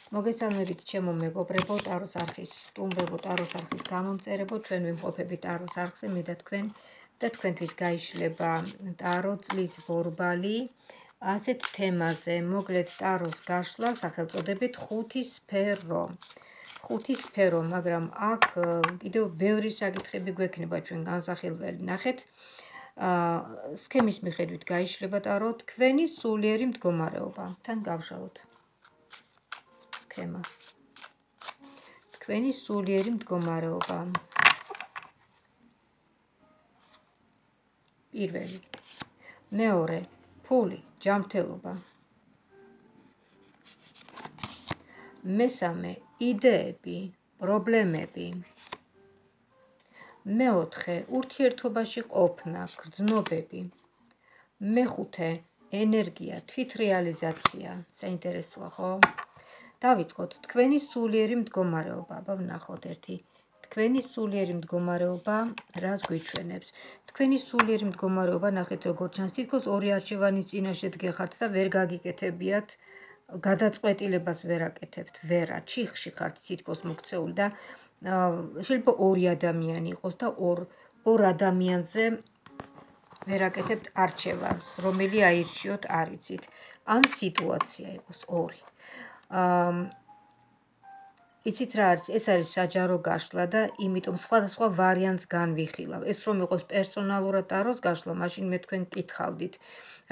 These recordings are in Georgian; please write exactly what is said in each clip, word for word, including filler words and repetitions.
მოგესალმებით ჩემო მეგობრებო, ტაროს არხის სტუმრებო, ტაროს არხის გამომწერებო, ჩვენ ვიმყოფებით ტაროს არხზე, მე და თქვენ და თქვენთვის გაიშლება ტარო წლის ბორბალი. ასეთ თემაზე მოკლედ ტაროს გაშლა სახელწოდებით ხუთი სფერო. ხუთი სფერო, მაგრამ აქ კიდევ ბევრი საკითხები გვექნება ჩვენ განსახილველი. ნახეთ, სქემის მიხედვით გაიშლება ტარო თქვენი სულიერი მდგომარეობა. თან გავშალოთ. სქემა. თქვენი სულიერი მდგომარეობა. პირველი. მეორე. ფული, ჯანმრთელობა. მესამე. იდეები, პრობლემები. მეოთხე. ურთიერთობაში ყოფნა, გრძნობები. მეხუთე. ენერგია, თვითრეალიზაცია. საინტერესოა, ხო? დავიწყოთ თქვენი სულიერი მდგომარეობა. აბა ვნახოთ ერთი. თქვენი სულიერი მდგომარეობა რას გვიჩვენებს? თქვენი სულიერი მდგომარეობა ნახეთ როგორ ჩანს, თითქოს ორი არჩევანის წინაშე დგეხართ და ვერ გაგიკეთებიათ, გადაწყვეტილებას ვერ აკეთებთ, ვერა, ჩიხში ხართ თითქოს მოქცეული და შეიძლება ორი ადამიანი იყოს და ორ ორ ადამიანზე ვერ აკეთებთ არჩევანს, რომელი აირჩიოთ არ იცით. ან სიტუაცია იყოს ორი. იცით რა არის? ეს არის საჯარო გაშლა და იმიტომ სხვადასხვა ვარიანტს განვიხილავ. ეს რომ იყოს პერსონალურად ტაროს გაშლა, მაშინ მე თქვენ გკითხავდით,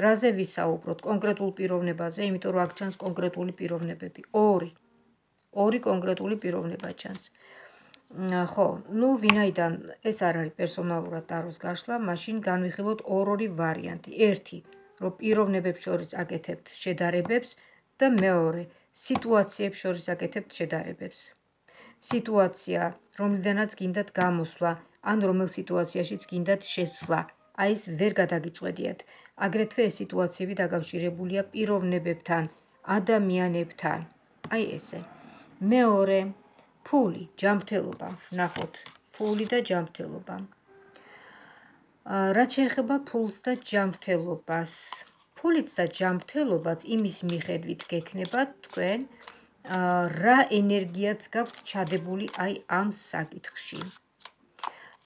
რაზე ვისაუბროთ? კონკრეტულ პიროვნებაზე, იმიტომ რომ აქ ჩანს კონკრეტული პიროვნებები. ორი. ორი კონკრეტული პიროვნება ჩანს. ხო, ნუ ვინაიდან ეს არ არის პერსონალურად ტაროს გაშლა, მაშინ განვიხილოთ ორ-ორი ვარიანტი. ერთი, რომ პიროვნებებს შორის აკეთებთ შედარებებს და მეორე, სიტუაციებს შორის აკეთებთ შედარებებს. სიტუაცია, რომლიდანაც გინდათ გამოსვლა, ან რომელ სიტუაციაშიც გინდათ შესვლა. აი ეს ვერ გადაგიწყვეტიათ. აგრეთვე ეს სიტუაციები დაკავშირებულია პიროვნებებთან, ადამიანებთან. აი ესე. მეორე, ფული, ჯანმრთელობა. ვნახოთ, ფული და ჯანმრთელობა. რაც შეეხება ფულს და ჯანმრთელობას, ფულიც და ჯანმრთელობაც იმის მიხედვით გექნებათ თქვენ, რა ენერგიაც გაქვთ ჩადებული აი ამ საკითხში.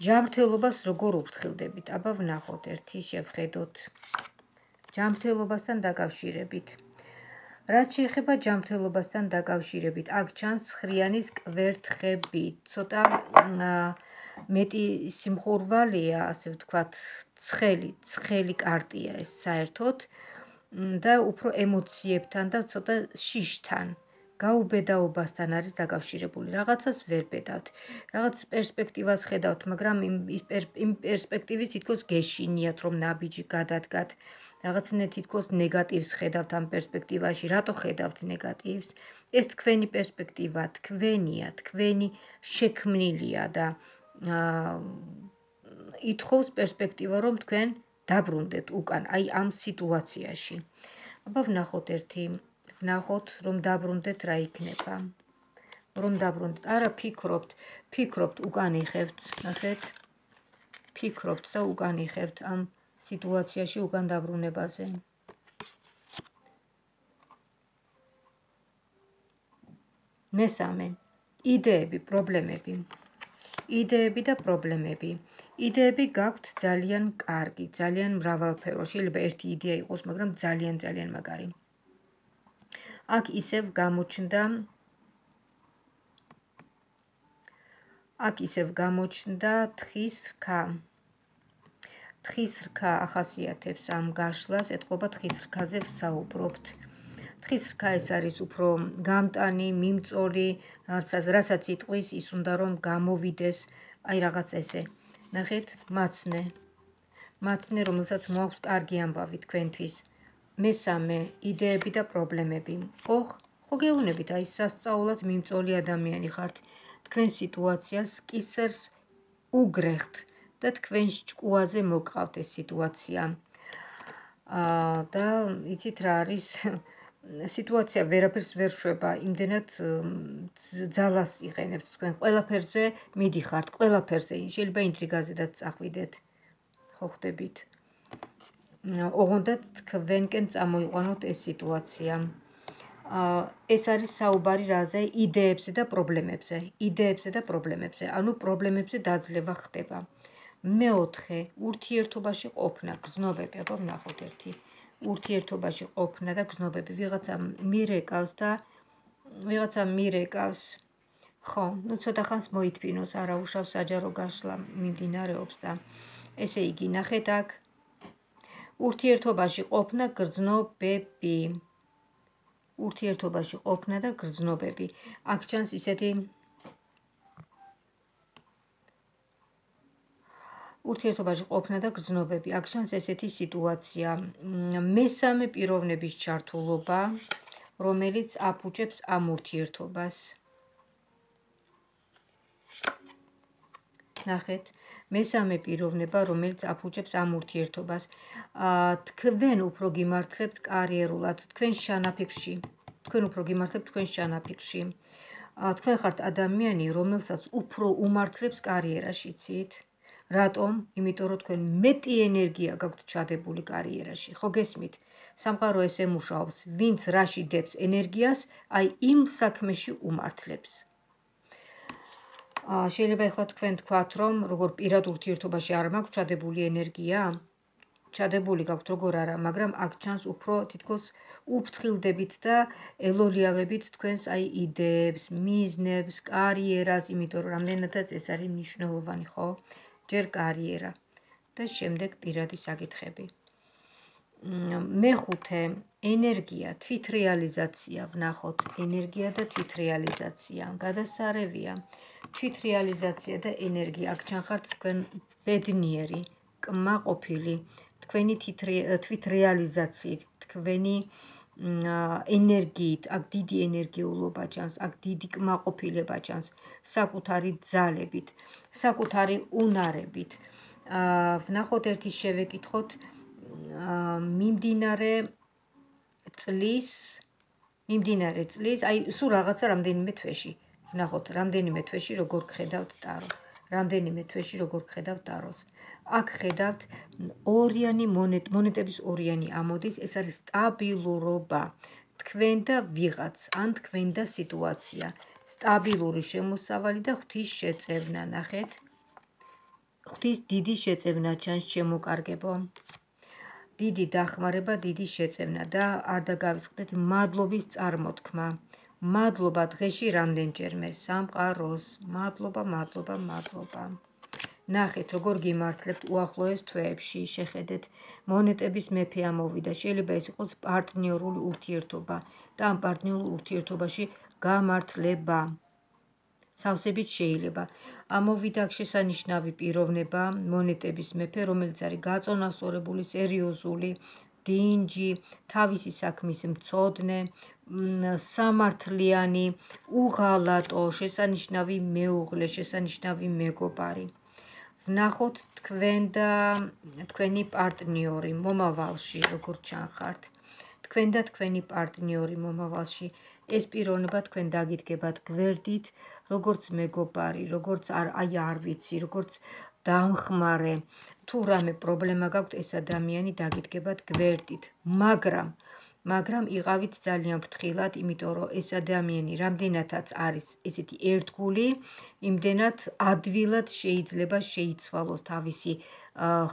ჯანმრთელობას როგორ უფრთხილდებით? აბა ვნახოთ, ერთი შევხედოთ. ჯანმრთელობასთან დაკავშირებით. რაც შეეხება ჯანმრთელობასთან დაკავშირებით, აქ ჩანს ცხრიანის კვერთხები, ცოტა მეტი სიმხურვალეა, ასე ვთქვათ, ცხელი, ცხელი კარტია ეს საერთოდ და უფრო ემოციებთან და ცოტა შიშთან, გაუბედაობასთან არის დაკავშირებული. რაღაცას ვერ ბედავთ, რაღაც პერსპექტივას ხედავთ, მაგრამ იმ პერსპექტივის თითქოს გეშინიათ, რომ ნაბიჯი გადადგათ. რაღაცნაირ თითქოს ნეგატივს ხედავთ ამ პერსპექტივაში. რატო ხედავთ ნეგატივს? ეს თქვენი პერსპექტივა, თქვენია, თქვენი შექმნილია და ითხოვს პერსპექტივა, რომ თქვენ დაბრუნდეთ უკან, აი ამ სიტუაციაში. აბა ვნახოთ ერთი, ვნახოთ, რომ დაბრუნდეთ რა იქნება. რომ დაბრუნდეთ, არა ფიქრობთ, ფიქრობთ უკან იხევთ, ნახეთ. ფიქრობთ და უკან იხევთ ამ სიტუაციაში უკან დაბრუნებაზე. მესამე, იდეები, პრობლემები. იდეები და პრობლემები. იდეები გაქვთ ძალიან კარგი, ძალიან მრავალფერო. შეიძლება ერთი იდეა იყოს, მაგრამ ძალიან ძალიან მაგარი. აქ ისევ გამოჩნდა აქ ისევ გამოჩნდა თხის რქა. თხის რქა ახასიათებს ამ გაშლას, ეთყობა თხის რქაზე ვსაუბრობთ. თხის რქა ეს არის უფრო გამტანი, მიმწოლი, რასაც იტყვის, ის უნდა რომ გამოვიდეს, აი რაღაც ესე. ნახეთ, მაცნე. მაცნე, რომელსაც მოაქვს კარგი ამბავი თქვენთვის. მესამე, იდეები და პრობლემები. ოხ, ხო გეუბნებით, აი სასწაულად მიმწოლი ადამიანი ხართ. თქვენ სიტუაციას კისერს უგრეხთ და თქვენ ჭკუაზე მოგყავთ ეს სიტუაცია. და იცით რა არის? სიტუაცია ვერაფერს ვერ შვება, იმდენად ძალას იყენებთ თქვენ, ყველაფერზე მიდიხართ, ყველაფერზე, შეიძლება ინტრიგაზედაც წახვიდეთ, ხო ხვდებით? ოღონდაც თქვენკენ წამოიყვანოთ ეს სიტუაცია. ეს არის საუბარი რაზე? იდეებზე და პრობლემებზე. იდეებზე და პრობლემებზე. ანუ პრობლემებზე დაძლევა ხდება. მეოთხე, ურთიერთობაში ყოფნა, გრძნობები, აბა ვნახოთ ერთი. ურთიერთობაში ყოფნა და გრძნობები. ვიღაცა მირეკავს და ვიღაცა მირეკავს. ხო, ну ცოტა ხანს მოითბინოს, არა უშავს საჯარო გაშლა მიმდინარეობს და ესე იგი, ნახეთ აქ. ურთიერთობაში ყოფნა, გრძნობები. ურთიერთობაში ყოფნა და გრძნობები. აქ ჩანს ისეთი ურთიერთობაში ყოფნა და გრძნობები. აქ ჩანს ესეთი სიტუაცია. მესამე პიროვნების ჩართულობა, რომელიც აფუჭებს ამ ურთიერთობას. ნახეთ, მესამე პიროვნება, რომელიც აფუჭებს ამ ურთიერთობას. თქვენ უფრო გიმართლებთ კარიერულად, თქვენ შანაფიქრში. თქვენ უფრო გიმართლებთ თქვენ შანაფიქრში. თქვენ ხართ ადამიანი, რომელსაც უფრო უმართლებს კარიერაში, იცით? რატომ? იმიტომ რომ თქვენ მეტი ენერგია გაქვთ ჩადებული კარიერაში. ხო გესმით? სამყარო ესე მუშაობს, ვინც რაში დებს ენერგიას, აი იმ საქმეში უმართლებს. შეიძლება ეხლა თქვენ თქვათ, რომ როგორ პირად ურთიერთობაში არ მაქვს ჩადებული ენერგია? ჩადებული გაქვთ როგორ არა, მაგრამ აქ ჩანს უფრო თითქოს უფრთხილდებით და ელოლიავებით თქვენს აი იდეებს, მიზნებს, კარიერას, იმიტომ რომ რამდენადაც ეს არის მნიშვნელოვანი, ხო? ჯერ კარიერა და შემდეგ პირადი საკითხები. მეხუთე, ენერგია, თვითრეალიზაცია, ვნახოთ, ენერგია და თვითრეალიზაცია, გადასარევია. თვითრეალიზაცია და ენერგია, აქ ჩანხართ თქვენ ბედნიერი, კმაყოფილი, თქვენი თვითრეალიზაციით, თქვენი ენერგიით, აქ დიდი ენერგიულობა ჩანს, აქ დიდი კმაყოფილება ჩანს, საკუთარი ძალებით, საკუთარი უნარებით. ვნახოთ ერთი შევეკითხოთ მიმდინარე წლის, მიმდინარე წლის, აი სულ რაღაცა რამდენიმე თვეში. ვნახოთ, რამდენიმე თვეში როგორ გხედავთ ტარო. რამდენიმე თვეში როგორ გხედავთ ტაროს. აქ ხედავთ ორიანი მონეტების ორიანი ამოდის, ეს არის სტაბილურობა. თქვენ და ვიღაც, ან თქვენ და სიტუაცია. სტაბილური შემოსავალი და ღვთის შეწევნა, ნახეთ. ღვთის დიდი შეწევნა ჩანს, შემოკარგებო. დიდი დახმარება, დიდი შეწევნა და არ დაგავიწყდეთ მადლობის წარმოთქმა. მადლობა დღეში რამდენჯერმე სამყაროს. მადლობა, მადლობა, მადლობა. ნახეთ, როგორ გიმართლებთ უახლოეს თვეებში, შეხედეთ, მონეტების მეფე ამოვიდა. შეიძლება ეს იყოს პარტნიორული ურთიერთობა და ამ პარტნიორულ ურთიერთობაში გამართლება. სავსებით შეიძლება. ამოვიდა აქ შესანიშნავი პიროვნება, მონეტების მეფე, რომელიც არის გაწონასწორებული, სერიოზული, დინჯი, თავისი საქმის მცოდნე, სამართლიანი, უღალატო, შესანიშნავი მეუღლე, შესანიშნავი მეგობარი. ვნახოთ თქვენ და თქვენი პარტნიორი მომავალში, როგორ ჩანხართ. თქვენ და თქვენი პარტნიორი მომავალში. ეს პიროვნება თქვენ დაგიდგებათ გვერდით, როგორც მეგობარი, როგორც აი არ ვიცი, როგორც დამხმარე. თუ რამე პრობლემა გაქვთ, ეს ადამიანი დაგიდგებათ გვერდით, მაგრამ მაგრამ იყავით ძალიან ფრთხილად, იმიტომ რომ ეს ადამიანი რამდენადაც არის ესეთი ერთგული, იმდენად ადვილად შეიძლება შეიცვალოს თავისი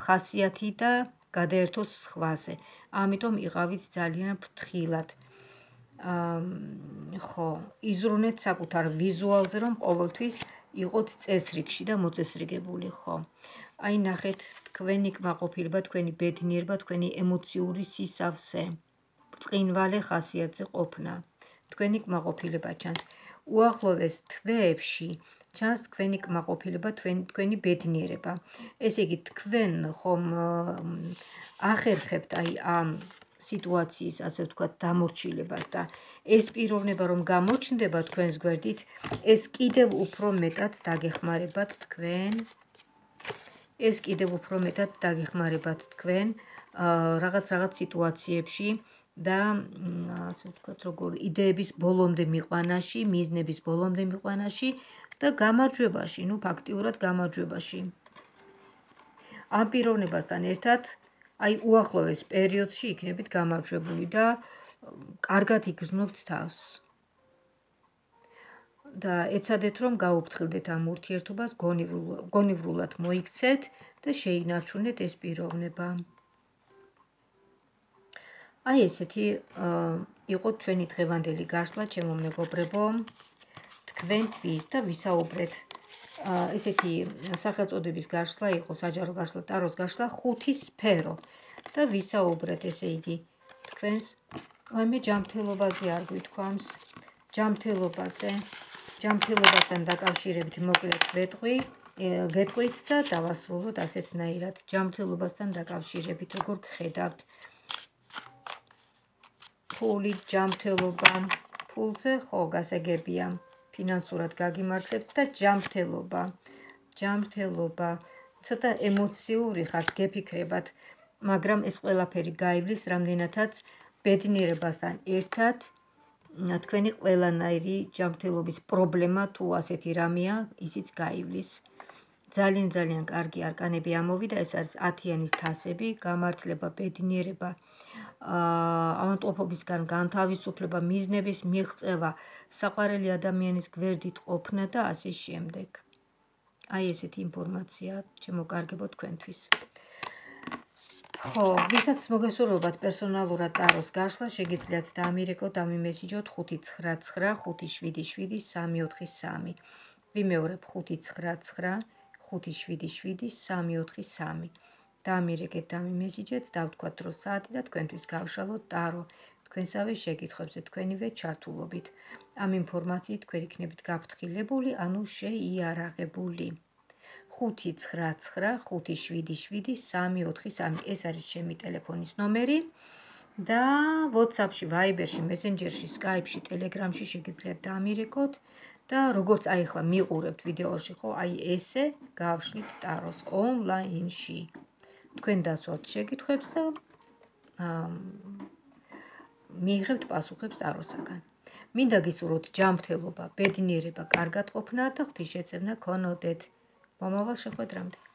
ხასიათი და გადაერთოს სხვაზე. ამიტომ იყავით ძალიან ფრთხილად. ხო, იზრუნეთ საკუთარ ვიზუალზე, რომ ყოველთვის იყოთ წესრიგში და მოწესრიგებული, ხო. აი ნახეთ, თქვენი კმაყოფილება, თქვენი ბედნიერება, თქვენი ემოციური სისავსე. ბრწყინვალე ხასიათზე ყოფნა. თქვენი კმაყოფილება ჩანს. უახლოვეს თვეებში ჩანს თქვენი კმაყოფილება, თქვენი ბედნიერება. ესე იგი, თქვენ ხომ ახერხებთ აი ამ სიტუაციის, ასე ვთქვათ, დამორჩილებას და ეს პიროვნება რომ გამოჩნდება თქვენს გვერდით, ეს კიდევ უფრო მეტად დაგეხმარებათ თქვენ. ეს კიდევ უფრო მეტად დაგეხმარებათ თქვენ რაღაც რაღაც სიტუაციებში და ასე ვთქვათ, როგორ იდეების ბოლომდე მიყვანაში, მიზნების ბოლომდე მიყვანაში და გამარჯვებაში, ну ფაქტიურად გამარჯვებაში. ამ პიროვნებასთან ერთად აი უახლოეს პერიოდში იქნებით გამარჯვებული და კარგად იგრძნობთ თავს და ეცადეთ რომ გაუფრთხილდეთ ამ ურთიერთობას, გონივრულად მოიქცეთ და შეინარჩუნეთ ეს პიროვნება. აი ესეთი იყო ჩვენი დღევანდელი გაშლა, ჩემო მეგობრებო. თქვენთვის და ვისაუბრეთ ესეთი სახელწოდების გაშლა იყო საჯარო გაშლა, ტაროს გაშლა ხუთი სფერო და ვისაუბრეთ ესე იგი თქვენს მე ჯანმრთელობაზე არ გვითქვამს, ჯანმრთელობაზე, ჯანმრთელობასთან დაკავშირებით მოკლედ ვეტყვი, გეტყვით და დავასრულოთ ასეთნაირად. ჯანმრთელობასთან დაკავშირებით როგორ გხედავთ ფული, ჯანმრთელობა, ფულზე ხო გასაგებია. ფინანსურად გაგიმართლებთ და ჯანმრთელობა, ჯანმრთელობა, ცოტა ემოციური ხართ, გეფიქრებათ, მაგრამ ეს ყველაფერი გაივლის რამდენადაც ბედნიერებასთან ერთად თქვენი ყველანაირი ჯანმრთელობის პრობლემა თუ ასეთი რამეა, ისიც გაივლის. ძალიან ძალიან კარგი არკანები ამოვიდა, ეს არის ათიანის თასები, გამართლება, ბედნიერება, ავადმყოფობისგან განთავისუფლება, მიზნების მიღწევა, საყვარელი ადამიანის გვერდით ყოფნა და ასე შემდეგ. აი ესეთი ინფორმაცია შემოკარგებო თქვენთვის. ხო, ვისაც მოგესურვებათ პერსონალურად ტაროს გაშლა, შეგიძლიათ დაამირეკოთ, დამიმესიჯოთ ხუთი ცხრა ცხრა ხუთი შვიდი შვიდი სამი ოთხი სამი. ვიმეორებ ხუთი ცხრა ცხრა ხუთი შვიდი შვიდი სამი ოთხი სამი. დაამირეკეთ, დამიმესიჯეთ, დავთქვათ დრო საათი და თქვენთვის გავშალოთ ტარო. თქვენსავე შეკითხვებზე თქვენივე ჩართულობით. ამ ინფორმაციით თქვენ იქნებით გაფრთხილებული, ანუ შეიარაღებული. ხუთი ცხრა ცხრა ხუთი შვიდი შვიდი სამი ოთხი სამი. ეს არის ჩემი ტელეფონის ნომერი და WhatsApp-ში, Viber-ში, Messenger-ში, Skype-ში, Telegram-ში შეგიძლიათ დაამირეკოთ და როგორც აი ახლა მიყურებთ ვიდეოში, ხო, აი ესე გავშლით ტაროს ონლაინში. თქვენ დასვათ შეკითხვებს და მიიღებთ პასუხებს ტაროსაგან. მინდა გისურვოთ ჯანმრთელობა, ბედნიერება, კარგად ყოფნა და ღვთისშეწევნა გქონოდეთ. მომავალ შეხვედრამდე.